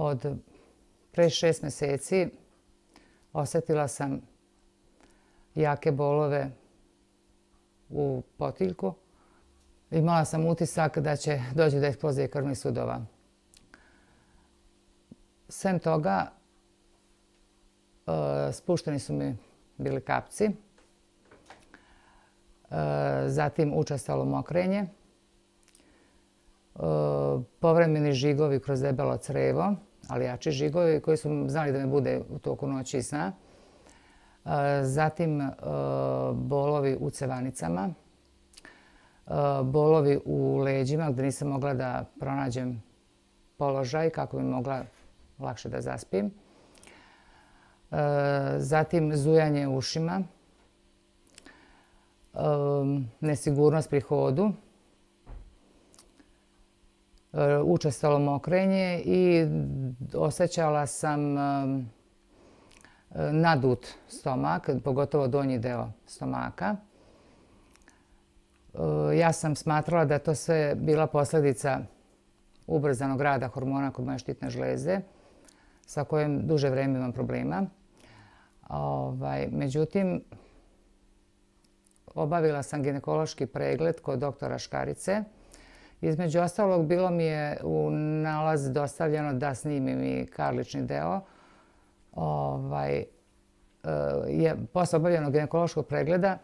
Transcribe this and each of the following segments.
Od pre 6 meseci osetila sam jake bolove u potiljku. Imala sam utisak da će doći do eksplozije krvnih sudova. Sem toga, spušteni su mi bili kapci, zatim učestalo mokrenje, povremeni žigovi kroz debelo crevo, ali jači žigovi koji su znali da me bude u toku noći i sna. Zatim bolovi u cevanicama, bolovi u leđima gdje nisam mogla da pronađem položaj kako bi mogla lakše da zaspim. Zatim zujanje u ušima, nesigurnost pri hodu, učestalo mokrenje i osjećala sam nadut stomak, pogotovo donji deo stomaka. Ja sam smatrala da je to sve bila posljedica ubrzanog rada hormona kod moje štitne žlezde, sa kojim duže vrijeme imam problema. Međutim, obavila sam ginekološki pregled kod doktora Škarice. Između ostalog, bilo mi je u nalaz dostavljeno da snimim i karlični deo. Posle obavljenog ginekološkog pregleda,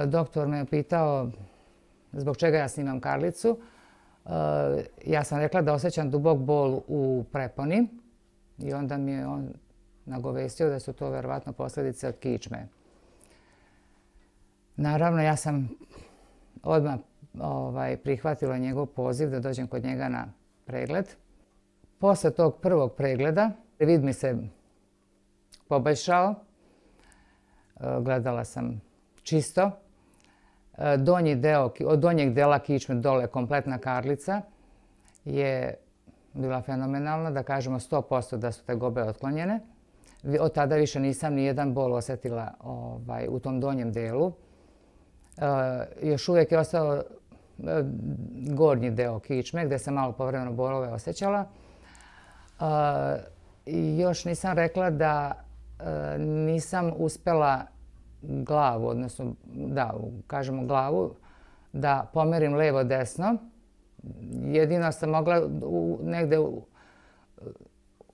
doktor me je pitao zbog čega ja snimam karlicu. Ja sam rekla da osjećam dubok bol u preponi i onda mi je on nagovestio da su to verovatno posljedice od kičme. Naravno, ja sam odmah prihvatila njegov poziv da dođem kod njega na pregled. Posle tog prvog pregleda vid mi se poboljšao. Gledala sam čisto. Od donjeg dela kičme dole kompletna karlica je bila fenomenalna, da kažemo 100% da su tegobe otklonjene. Od tada više nisam ni jedan bol osjetila u tom donjem delu. Još uvijek je ostao gornji deo kičme gdje sam malo povremeno bolove osjećala. Još nisam rekla da nisam uspjela glavu, odnosno da kažemo glavu, da pomerim levo-desno. Jedino sam mogla negdje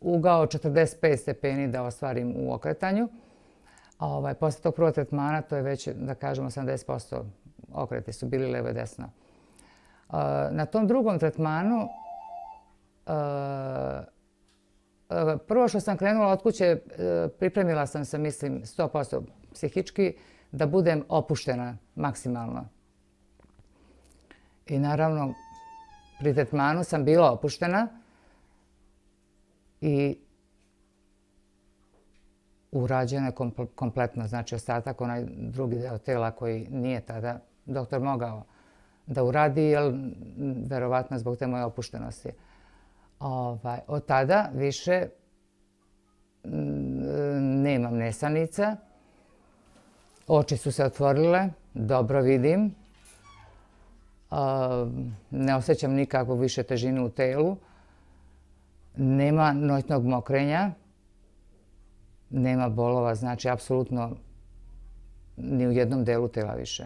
ugao 45 stepeni da ostvarim u okretanju. Posle tog prvog tretmana to je već, da kažemo, 80% okreti su bili levo i desno. Na tom drugom tretmanu, prvo što sam krenula od kuće, pripremila sam se, mislim, 100% psihički, da budem opuštena maksimalno. I naravno, pri tretmanu sam bila opuštena i urađeno je kompletno, znači ostatak, onaj drugi deo tela koji nije tada doktor mogao da uradi, jer verovatno zbog te moje opuštenosti. Od tada više nemam nesanica, oči su se otvorile, dobro vidim, ne osjećam nikakvu više težinu u telu, nema noćnog mokrenja, nema bolova, znači apsolutno ni u jednom delu tela više.